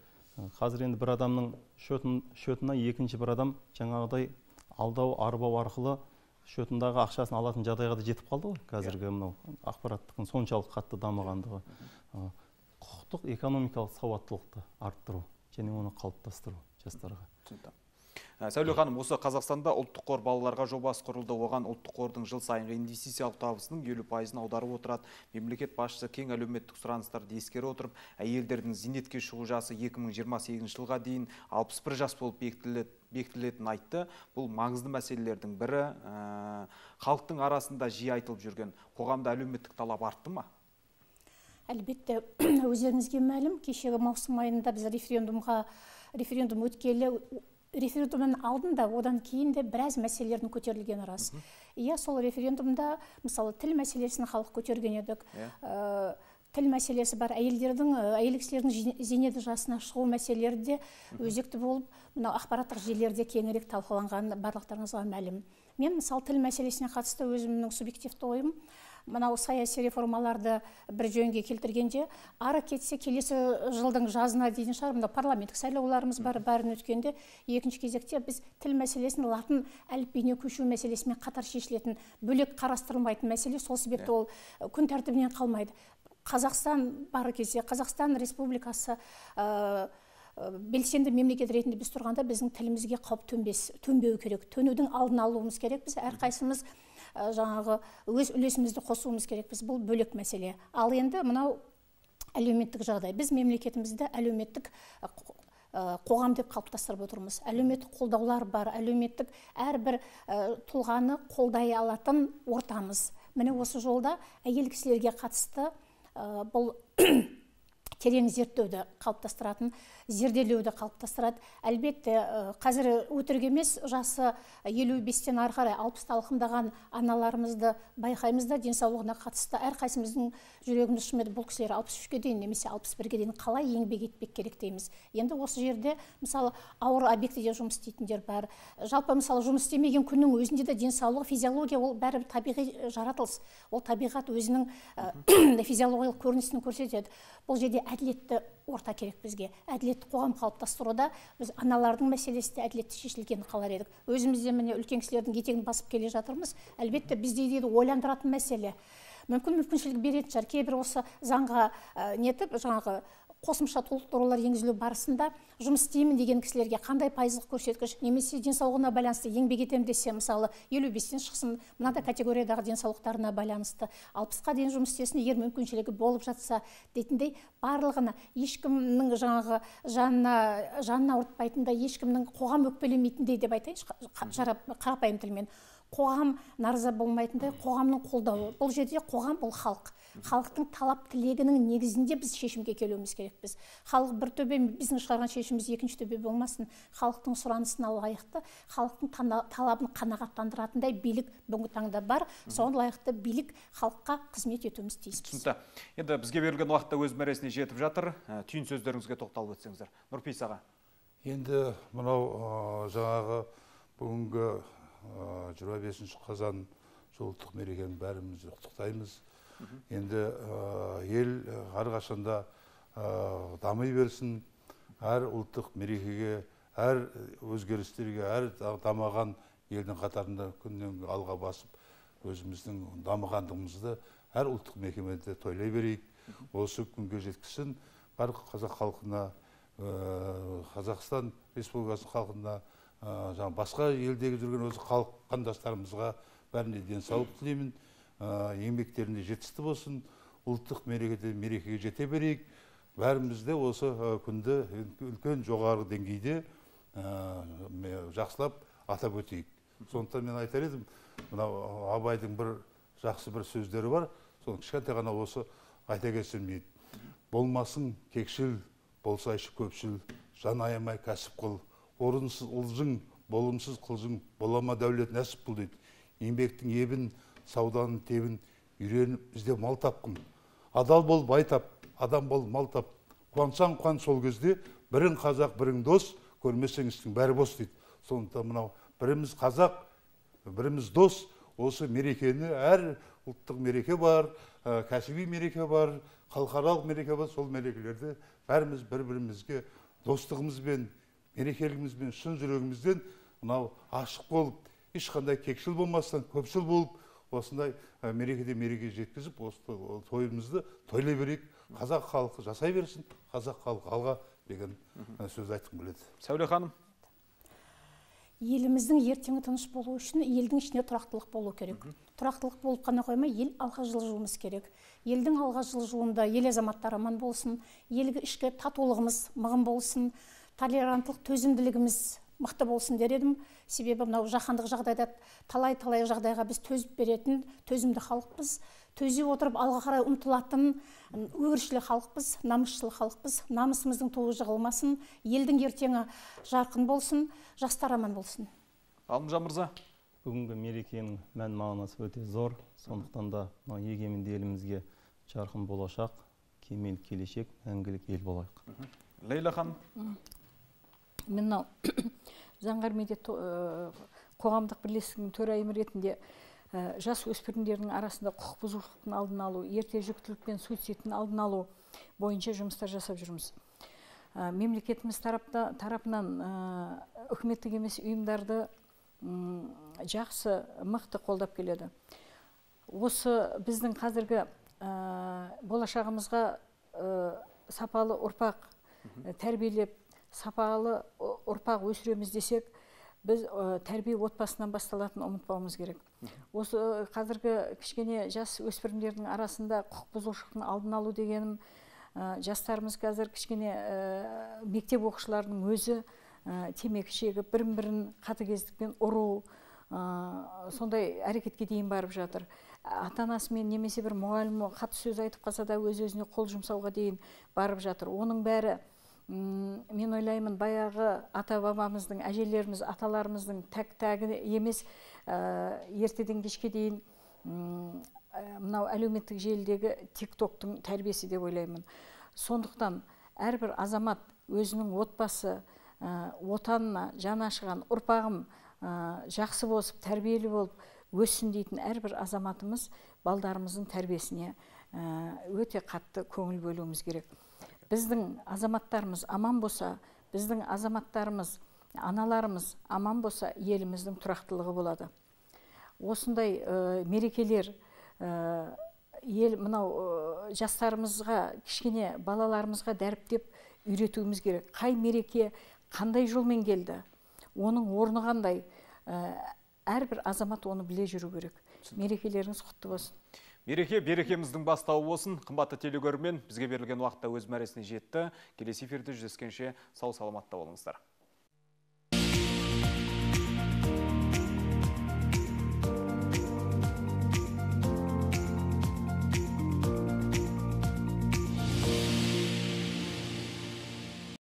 қазір енді бір адамның шөтіне екінші бір адам жаңағыдай алдау, арбау арқылы шөтіндағы ақшасын алатын жағдайға да жетіп қалды ғой. Қазіргі мынау ақпараттың соншалық қатты дамығандығы. Құқықтық экономикалық сауаттылықты арттыру және оны қалыптастыру жастарға. Сәуле ханым, осы Қазақстанда ұлттық қор балаларға жобасы құрылды. Оған ұлттық қордың жыл сайынғы инвестициялық табысының елу пайызын аударып отырады. Мемлекет басшысы кең әлеуметтік сұраныстарды ескере отырып, әйелдердің зейнетке шығу жасы екі мың жиырма сегізінші жылға дейін алпыс бір жас болып бекітілетінін айтты. Бұл маңызды мәселелердің бірі. Халықтың арасында жиі айтылып жүрген қоғамда әлеуметтік талап артты ма? Әлбетте, өздеріңізге мәлім, кешегі маусым айында біз референдумға референдум өткелі референдумның алдында, одан кейін де біраз мәселелердің көтерілген рас. Иә, сол референдумда, мысалы, тіл мәселесін халық көтерген едік. Тіл мәселесі бар, әйелдердің, әйел кісілердің зейнет жасына шығу мәселелері де өзекті болып, мынау ақпараттық желілерде кеңірек талқыланған барлықтарыңызға мәлім. Мен, мысалы, тіл мәселесіне қатысты өзімнің субъективті ойым, мынау саяси реформаларды бір жөнге келтіргенде, ары кетсе келесі жылдың жазына дейін шығар, мынау парламенттік сайлауларымыз бар, бәрін өткенде, екінші кезекте біз тіл мәселесін латын әліпбиіне көшу мәселесімен қатар шешілетін, бөлек қарастырылмайтын мәселе, сол себепті ол күн тәртібінен қалмайды. Қазақстан бар кезде, Қазақстан Республикасы белсенді мемлекет ретінде біз тұрғанда біздің тілімізге қауіп төнбеу керек, төнудің алдын алуымыз керек. Біз әрқайсымыз жаңағы өз үлесімізді қосуымыз керек. Біз бұл бөлек мәселе. Ал енді мынау әлеуметтік жағдай. Біз мемлекетімізді әлеуметтік қоғам деп қалыптастырып отырмыз. Әлеуметтік қолдаулар бар, әлеуметтік әрбір тұлғаны қолдай алатын ортамыз. Міне осы жолда әйел кісілерге қатысты бұл терең зерттеуді қалыптастыратын, зерделеуді қалыптастырады. Әлбетте, қазір өтірік емес, жасы елу бестен ары қарай алпысты алқымдаған аналарымызды байқаймыз да, денсаулығына қатысты әрқайсымыздың жүрегіміз шымеді, бұл кісілер алпыс үшке дейін немесе алпыс бірге дейін қалай еңбек етпек керек дейміз. Енді осы жерде, мысалы, ауыр объектіде жұмыс істейтіндер бар. Жалпы, мысалы, жұмыс істемеген күннің өзінде де денсаулығы, физиология, ол бәрі табиғи жаратылыс. Ол табиғат өзінің физиологиялық көрінісін көрсетеді. Бұл жерде әділетті орта керек бізге. Әділетті қоғам қалыптастыруда біз аналардың мәселесі де әділетті шешілгенін қалар едік. Өзімізде міне үлкен кісілердің етегін басып келе жатырмыз. Әлбетте бізде де ойландыратын мәселе. Мүмкін мүмкіншілік беретін шығар. Кейбір осы заңға нетіп, жаңағы қосымша толықтырулар енгізілу барысында жұмыс істеймін деген кісілерге қандай пайыздық көрсеткіш немесе денсаулығына байланысты еңбек етемін десе, мысалы елу бестен шықсын, мынадай категориядағы денсаулықтарына байланысты алпысқа дейін жұмыс істесін, егер мүмкіншілігі болып жатса дейтіндей, барлығына ешкімнің жаңағы жанына жанына ауыртпайтындай, ешкімнің қоғам өкпелемейтіндей деп айтайыншы қарапайым тілмен, қоғам наразы болмайтындай, қоғамның қолдауы. Бұл жерде қоғам бұл халық. Халықтың талап тілегінің негізінде біз шешімге келуіміз керекпіз. Халық бір төбе, біздің шығарған шешіміміз екінші төбе болмасын. Халықтың сұранысына лайықты, халықтың талабын қанағаттандыратындай билік бүгінгі таңда бар. Соған лайықты билік халыққа қызмет етуіміз тиіспіз. Түсінікті. Енді бізге берілген уақытта өз мәресіне жетіп жатыр. Түйін сөздеріңізге тоқталып өтсеңіздер. Нұрпейіс аға. Енді мынау жаңағы бүгінгі жиырма бесінші қазан ұлттық мерекені бәріміз құттықтаймыз. Енді ел әрқашанда дами берсін, әр ұлттық мерекеге, әр өзгерістерге, әр дамыған елдің қатарында күннен алға басып, өзіміздің дамығандығымызды әр ұлттық мерекеде тойлай берейік. Осы күнге жеткізсін, бар қазақ халқына, Қазақстан Республикасы халқына, басқа елдегі жүрген осы халық қандастарымызға бәріне денсаулық тілеймін, еңбектерінде жетісті болсын, ұлттық мерекеде мерекеге жете берейік. Бәрімізде осы күнді үлкен жоғары деңгейде жақсылап атап өтейік. Сондықтан мен айтар едім, мынау Абайдың бір жақсы бір сөздері бар, соны кішкентай ғана осы айта кетсем дейді. Болмасын кекшіл, болсайшы көпшіл, жан аямай кәсіп қыл, орынсыз ұлжың, болымсыз қылжың, болама дәулет нәсіп бұл дейді. Еңбектің ебін, сауданың тебін, үйреніп ізде мал тапқын. Адал бол бай тап, адам бол мал тап. Қуансаң қуан сол кезде, бірің қазақ, бірің дос, көрмесең істің бәрі бос дейді. Сондықтан мынау біріміз қазақ, біріміз дос, осы мерекені әр ұлттық мереке бар, кәсіби мереке бар, халықаралық мереке бар, сол мерекелерді бәріміз бір-бірімізге достығымызбен, мерекелігімізбен, шын жүрегімізден мынау ашық болып, ешқандай кекшіл болмастан, көпшіл болып, осындай мерекеде мереке жеткізіп, осы тойымызды тойлай берейік. Қазақ халқы жасай берсін, қазақ халқы алға деген сөз айтқым келеді. Сәуле ханым. Еліміздің ертеңі тыныш болу үшін елдің ішіне тұрақтылық болу керек. Тұрақтылық болып қана қоймай, ел алға жылжуымыз керек. Елдің алға жылжуында ел азаматтары аман болсын, елгі ішкі татулығымыз мығым болсын, толеранттылық, төзімділігіміз мықты болсын дер едім. Себебі мынау жаһандық жағдайда талай-талай жағдайға біз төзіп беретін төзімді халықпыз. Төзе отырып алға қарай ұмтылатын өршілі халықпыз, намысшыл халықпыз. Намысымыздың туы жығылмасын, елдің ертеңі жарқын болсын, жастар аман болсын. Ғалымжан мырза. Бүгінгі мерекенің мән мағынасы өте зор. Сондықтан да егеменді елімізге жарқын болашақ, кемел келешек, мәңгілік ел болайық. Лейла ханым. Мен мынау Заңғар медиа қоғамдық бірлестігінің төрайымы ретінде жас өспірімдердің арасында құқық бұзушылықтың алдын алу, ерте жүктілік пен суицидтің алдын алу бойынша жұмыстар жасап жүрміз. Мемлекетіміз тарапынан үкіметтік емес ұйымдарды жақсы, мықты қолдап келеді. Осы біздің қазіргі болашағымызға сапалы ұрпақ тәрбиелеп, сапалы ұрпақ өсіреміз десек, біз тәрбие отбасынан басталатын ұмытпауымыз керек. Осы қазіргі кішкене жас өспірімдердің арасында құқық бұзушылықтың алдын алу дегенім, жастарымыз қазір кішкене мектеп оқушыларының өзі темекі шегіп, бірін-бірін қатыгездікпен ұру, сондай әрекетке дейін барып жатыр. Ата-анасымен немесе бір мұғалімі қатты сөз айтып қалса да өз-өзіне қол жұмсауға дейін барып жатыр. Оның бәрі мен ойлаймын, баяғы ата-бабамыздың, әжелеріміз, аталарымыздың тәк-тәгі емес, ертеден кешке дейін мынау әлеуметтік желідегі тик-токтың тәрбиесі деп ойлаймын. Сондықтан әрбір азамат өзінің отбасы, отанына жаны ашыған ұрпағым жақсы болып, тәрбиелі болып өссін дейтін әрбір азаматымыз балдарымыздың тәрбиесіне өте қатты көңіл бөлуіміз керек. Біздің азаматтарымыз аман болса, біздің азаматтарымыз, аналарымыз аман болса, еліміздің тұрақтылығы болады. Осындай мерекелер ел мынау жастарымызға, кішкене балаларымызға дәріптеп үйретуіміз керек. Қай мереке қандай жолмен келді, оның орны қандай, әрбір азамат оны біле жүру керек. Мерекелеріңіз құтты болсын. Мереке берекеміздің бастауы болсын. Қымбатты телекөрермен, бізге берілген уақытта өз мәресіне жетті. Келесі эфирде жүздескенше сау саламатта болыңыздар.